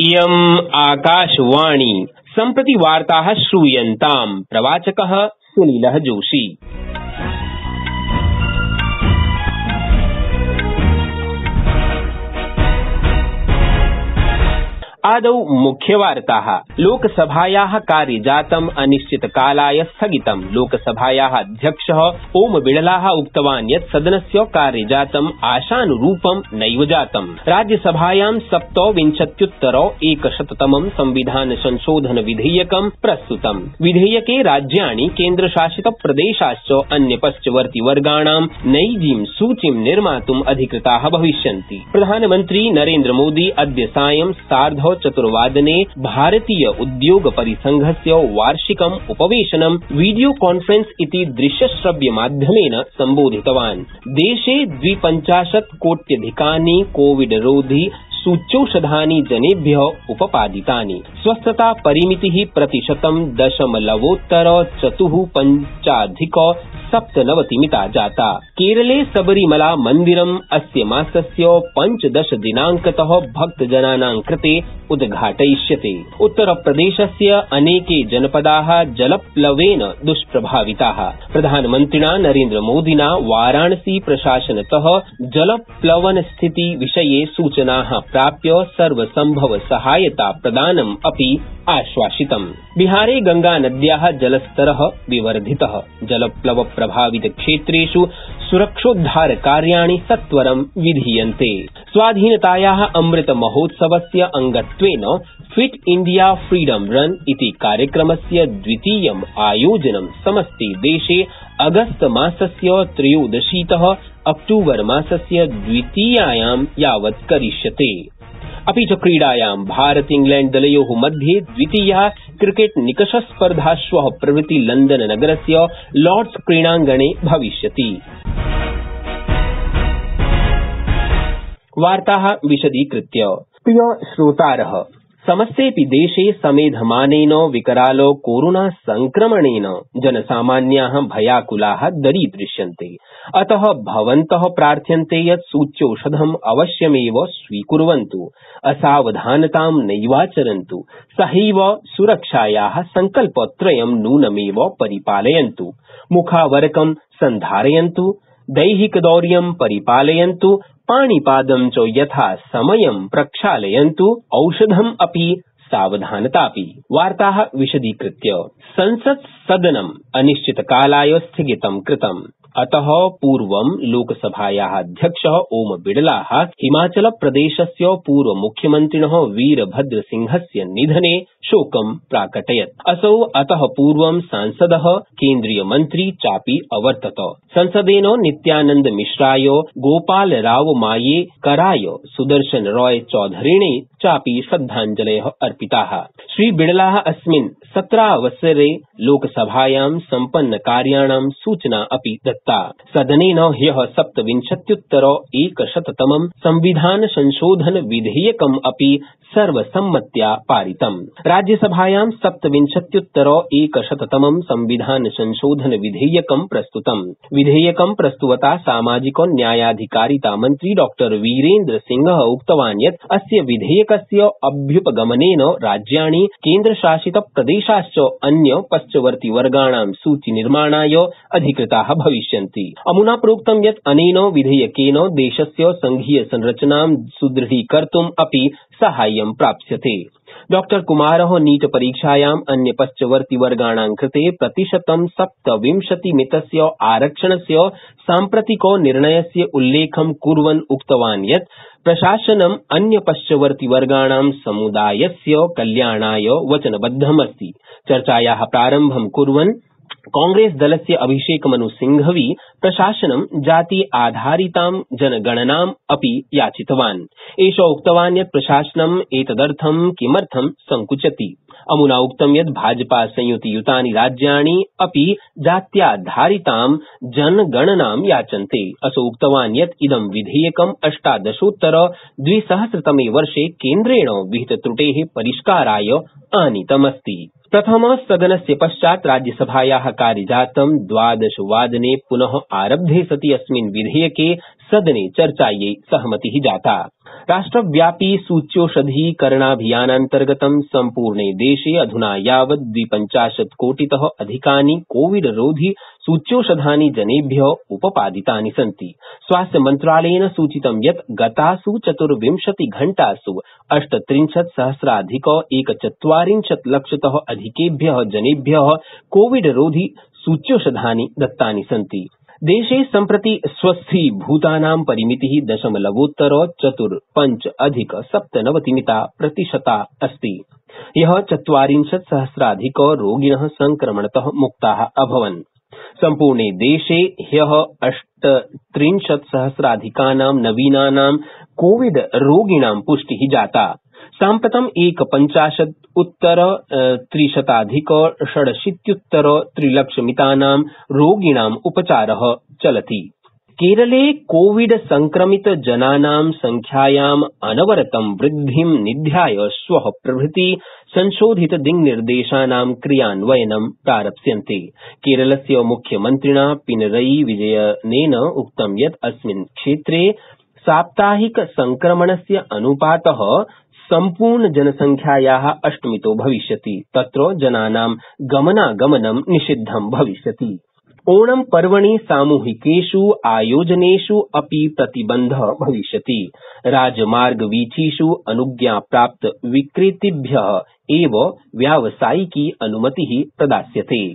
इयम् आकाशवाणी सम्प्रति वार्ताः श्रूयन्ताम् प्रवाचकः सुनीलः जोशी। आदौ मुख्यवार्ताः। लोकसभायाः कार्यजातम् अनिश्चितकालाय स्थगितम्। लोकसभायाः अध्यक्षः ओम बिड़लाः उक्तवान् यत् सदनस्य कार्यजातम् आशानुरूपं नैव जातम्। राज्यसभायां 27-100तमं संविधान संशोधन विधेयकं प्रस्तुतम्। विधेयके राज्याणि केन्द्रशासितप्रदेशाश्च अन्यपश्चवर्तिवर्गाणां नैजीं सूचीं निर्मातुम् अधिकृताः भविष्यन्ति। प्रधानमन्त्री नरेन्द्रमोदी अद्य सायं चतुर्वादने भारतीय उद्योग परिसंघस्य वार्षिकम् उपवेशनं वीडियो कॉन्फ्रेंस इति दृश्यश्रव्यमाध्यमेन सम्बोधितवान्। देशे 52 कोट्यधिकानि कोविडरोधि सूच्यौषधानि जनेभ्यः उपपादितानि। स्वस्थता परिमितिः प्रतिशतं 0.45 जाता। केरले सबरीमला मन्दिरम् अस्य मासस्य 15 दिनांकतः भक्तजनानां कृते उद्घाटयिष्यते। उत्तरप्रदेशस्य अनेके जनपदाः जलप्लवेन दुष्प्रभाविताः। प्रधानमन्त्रिणा नरेन्द्रमोदिना वाराणसी प्रशासनतः जलप्लवनस्थिति विषये सूचनाः प्राप्य सर्वसम्भव सहायता प्रदानम् अपि आश्वासितम्। बिहारे गंगानद्याः जलस्तरः विवर्धितः। जलप्लव प्रभावित क्षेत्रेषु सुरक्षोद्धारकार्याणि सत्वरं विधीयन्ते। स्वाधीनतायाः अमृत महोत्सवस्य अंगत्वेन फिट इंडिया फ्रीडम रन इति कार्यक्रमस्य द्वितीयम् आयोजनं समस्ते देशे अगस्त मासस्य 13तः अक्टूबर मासस्य द्वितीयायां यावत् करिष्यते। अपि च क्रीडायां भारत इंग्लैंड दलयोः मध्ये द्वितीया क्रिकेट निकषस्पर्धा श्वः प्रभृति लंदन नगरस्य लॉर्ड्स क्रीडाङ्गणे भविष्यति। वार्ताः विशदीकृत्य। प्रिय श्रोतारः, समस्तेऽपि देशे समेधमानेन विकराल कोरोना संक्रमणेन जनसामान्याः भयाकुलाः दरीदृश्यन्ते। अतः भवन्तः प्रार्थ्यन्ते यत् सूच्यौषधम् अवश्यमेव स्वीकुर्वन्तु, असावधानतां नैवाचरन्तु, सहैव सुरक्षायाः सङ्कल्पत्रयं नूनमेव परिपालयन्तु। मुखावरकं सन्धारयन्तु, दैहिकदौर्यं परिपालयन्तु, पाणिपादं च यथा समयं प्रक्षालयन्तु, औषधम् अपि सावधानतापि। वार्ताः विशदीकृत्य। संसत्सदनम् अनिश्चितकालाय स्थगितं कृतम्। अतः पूर्वं लोकसभायाः अध्यक्षः ओम बिड़लाः हिमाचलप्रदेशस्य पूर्वमुख्यमन्त्रिणः वीरभद्रसिंहस्य निधने शोकं प्राकटयत्। असौ अतः पूर्वं सांसदः केन्द्रीयमन्त्री चापि अवर्तत। संसदेन नित्यानन्दमिश्राय, गोपालरावमायेकराय, सुदर्शन रॉय चौधरिणे चापि श्रद्धाञ्जलयः अर्पिताः। श्री बिड़लाः अस्मिन् सत्रावसरे लोकसभायां सम्पन्नकार्याणां सूचना अपि दत्ता। सदनेन ह्यः 27-100तमं संविधान संशोधन विधेयकम् अपि सर्वसम्मत्या पारितम्। राज्यसभायां 27-100तमं संविधान संशोधन विधेयकं प्रस्तुतम्। विधेयकं प्रस्तुवता सामाजिक न्यायाधिकारिता मन्त्री डॉ वीरेन्द्र सिंहः उक्तवान् यत् अस्य विधेयकस्य अभ्युपगमनेन राज्याणि, केन्द्रशासित प्रदेशाश्च अन्य पश्चवर्तिवर्गाणां सूचीनिर्माणाय अधिकृताः भविष्यन्ति। अमुना प्रोक्तं यत् अनेन विधेयकेन देशस्य संघीय संरचनां सुदृढीकर्तुम् अपि साहाय्यं प्राप्स्यते। डॉ कुमारः नीट परीक्षायाम् अन्य पश्चवर्तिवर्गाणां कृते प्रतिशतं 27% आरक्षणस्य साम्प्रतिक निर्णयस्य उल्लेखं कुर्वन् उक्तवान् यत् प्रशासनम् अन्य पश्चवर्तिवर्गाणां समुदायस्य कल्याणाय वचनबद्धमस्ति। चर्चायाः प्रारम्भं कुर्वन् कांग्रेसदलस्य अभिषेकमनुसिंघवी प्रशासनं जाति आधारितां जनगणनाम् अपि याचितवान्। एषः उक्तवान् यत् प्रशासनम् एतदर्थं किमर्थं संकुचति। अमुना उक्तं यत् भाजपा संयुतियुतानि राज्याणि अपि जात्याधारितां जनगणनां याचन्ते। असौ उक्तवान् यत् इदं विधेयकम् 18-2000तमे वर्षे केन्द्रेण विहितत्रुटेः परिष्काराय आनीतमस्ति। प्रथमसदनस्य पश्चात् राज्यसभायाः कार्यजातं 12 वादने पुनः आरब्धे सति अस्मिन् विधेयके सदने चर्चायै सहमतिः जाता। राष्ट्रव्यापी सूच्यौषधीकरणाभियानान्तर्गतं सम्पूर्णे देशे अधुना यावत् 52 कोटितः अधिकानि कोविड-रोधि सूच्यौषधानि जनेभ्यः उपपादितानि सन्ति। स्वास्थ्यमन्त्रालयेन सूचितं यत् गतासु 24 घण्टासु 38,000,000 एकचत्वारिंशत्लक्षतः अधिकेभ्यः जनेभ्यः कोविड-रोधि सूच्यौषधानि दत्तानि सन्ति। देशे सम्प्रति स्वस्थीभूतानां परिमितिः 0.45% अस्ति। ह्यः 40,000,000 रोगिणः संक्रमणतः मुक्ताः अभवन्। सम्पूर्णे देशे ह्यः 38,000,000 नवीनानां कोविड रोगिणां पुष्टिः जाता। साम्प्रतं 1,50,300,680,3लक्षमितानां रोगिणाम् उपचारः चलति। केरले कोविड संक्रमित जनानां संख्यायाम् अनवरतं वृद्धिं निध्याय श्वः प्रभृति संशोधित दिङ्निर्देशानां क्रियान्वयनं प्रारप्स्यन्ते। केरलस्य मुख्यमन्त्रिणा पिनरई विजयनेन उक्तं यत् अस्मिन् क्षेत्रे साप्ताहिक संक्रमणस्य अनुपातः सम्पूर्ण जनसंख्यायाः अष्टमितो भविष्यति। तत्र जनानां गमनागमनं निषिद्धं भविष्यति। ओणम् पर्वणि सामूहिकेषु आयोजनेषु अपि प्रतिबन्धः भविष्यति। राजमार्गवीथिषु अनुज्ञाप्राप्त विक्रेतृभ्यः एव व्यावसायिकी अनुमतिः प्रदास्यते।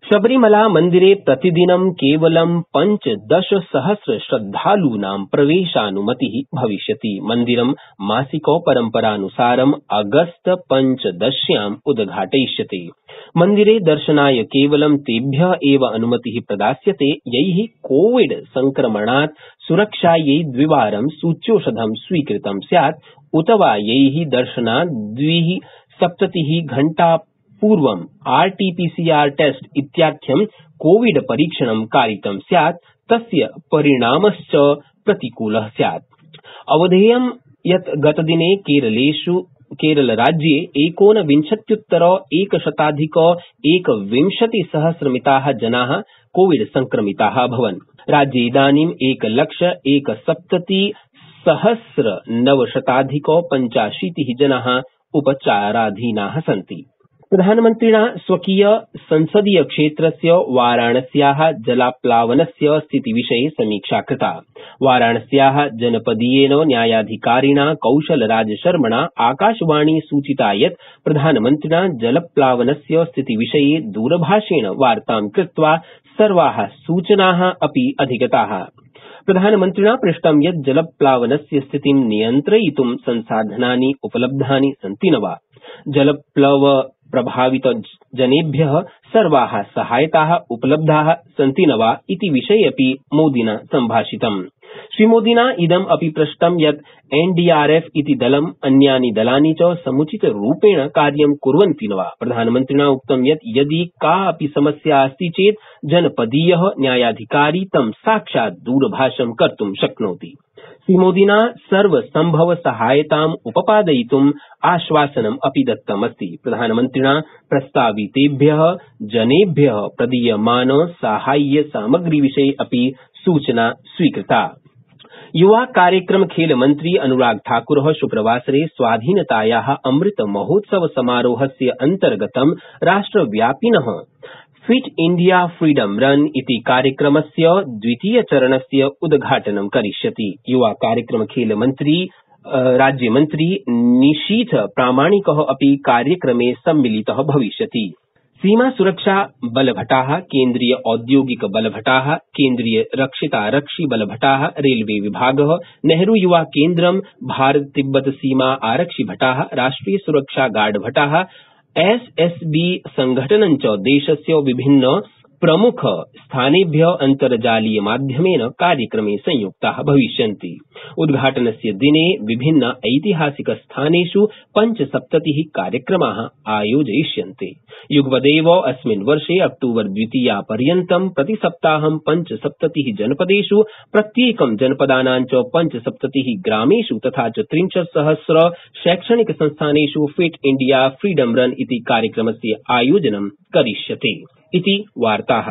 शबरीमला मन्दिरे प्रतिदिनं केवलं 15,000 श्रद्धालूनां प्रवेशानुमतिः भविष्यति। मन्दिरं मासिक परम्परानुसारम् अगस्त 15 उद्घाटयिष्यते। मन्दिरे दर्शनाय केवलं तेभ्यः एव अनुमतिः प्रदास्यते यैः कोविड संक्रमणात् सुरक्षायै द्विवारं सूच्यौषधं स्वीकृतं स्यात् उत वा यैः दर्शनात् 72 घण्टा पूर्वं RT-PCR टेस्ट इत्याख्यं कोविड परीक्षणं कारितं स्यात् तस्य परिणामश्च प्रतिकूलः स्यात्। अवधेयं यत् गतदिने केरलराज्ये 19,120,120,000 जनाः कोविड संक्रमिताः अभवन्। राज्ये इदानीं 1,01,70,985 जनाः उपचाराधीनाः सन्ति। प्रधानमन्त्रिणा स्वकीय संसदीय क्षेत्रस्य वाराणस्याः जलाप्लावनस्य स्थितिविषये समीक्षा कृता। वाराणस्याः जनपदीयेन न्यायाधिकारिणा कौशलराजशर्मणा आकाशवाणी सूचिता यत् प्रधानमन्त्रिणा जलप्लावनस्य स्थितिविषये दूरभाषेण वार्तां कृत्वा सर्वाः सूचनाः अपि अधिगताः। प्रधानमन्त्रिणा पृष्टं यत् जलप्लावनस्य स्थितिं नियन्त्रयितुं संसाधनानि उपलब्धानि सन्ति न वा। जलप्लव प्रभावित जनेभ्यः सर्वाः सहायताः उपलब्धाः सन्ति न वा इति विषये अपि मोदिना सम्भाषितम्। श्रीमोदिना इदम् अपि पृष्टं यत् NDRF इति दलम् अन्यानि दलानि च समुचितरूपेण कार्यं कुर्वन्ति न वा। प्रधानमन्त्रिणा उक्तं यत् यदि का अपि समस्या अस्ति चेत् जनपदीयः न्यायाधिकारी तं साक्षात् दूरभाषं कर्तुं शक्नोति। श्रीमोदिना सर्वसम्भव सहायताम् उपपादयितुम् आश्वासनम् अपि दत्तमस्ति। प्रधानमन्त्रिणा प्रस्तावितेभ्यः जनेभ्यः प्रदीयमान साहाय्यसामग्रीविषये अपि सूचना स्वीकृता। युवा कार्यक्रम खेल मन्त्री अनुराग ठाकुरः शुक्रवासरे स्वाधीनतायाः अमृत महोत्सव समारोहस्य अन्तर्गतं राष्ट्रव्यापिनः फिट इंडिया फ्रीडम रन इति कार्यक्रमस्य द्वितीयचरणस्य उद्घाटनं करिष्यति। युवा कार्यक्रम खेल राज्यमन्त्री निशीथ प्रामाणिकः अपि कार्यक्रमे सम्मिलितः भविष्यति। सीमा सुरक्षा बलभटाः, केन्द्रीय औद्योगिक बलभटाः, केन्द्रीय रक्षितारक्षि बलभटाः, रेलवे विभागः, नेहरू युवा केन्द्रं, भारत तिब्बत सीमा आरक्षि भटाः, राष्ट्रिय सुरक्षा गार्ड भटाः, SSB संघटनं च देशस्य विभिन्न प्रमुख स्थानेभ्यः अन्तर्जालीय माध्यमेन कार्यक्रमे संयुक्ताः भविष्यन्ति। उद्घाटनस्य दिने विभिन्न ऐतिहासिक स्थानेषु 75 कार्यक्रमाः आयोजयिष्यन्ते। युगपदेव अस्मिन् वर्षे अक्टूबर 2 पर्यन्तं प्रतिसप्ताहं 75 जनपदेषु प्रत्येकं जनपदानां च 75 ग्रामेषु तथा च 63,000 शैक्षणिक संस्थानेषु फिट इंडिया फ्रीडम रन इति कार्यक्रमस्य आयोजनं करिष्यते। इति वार्ताः।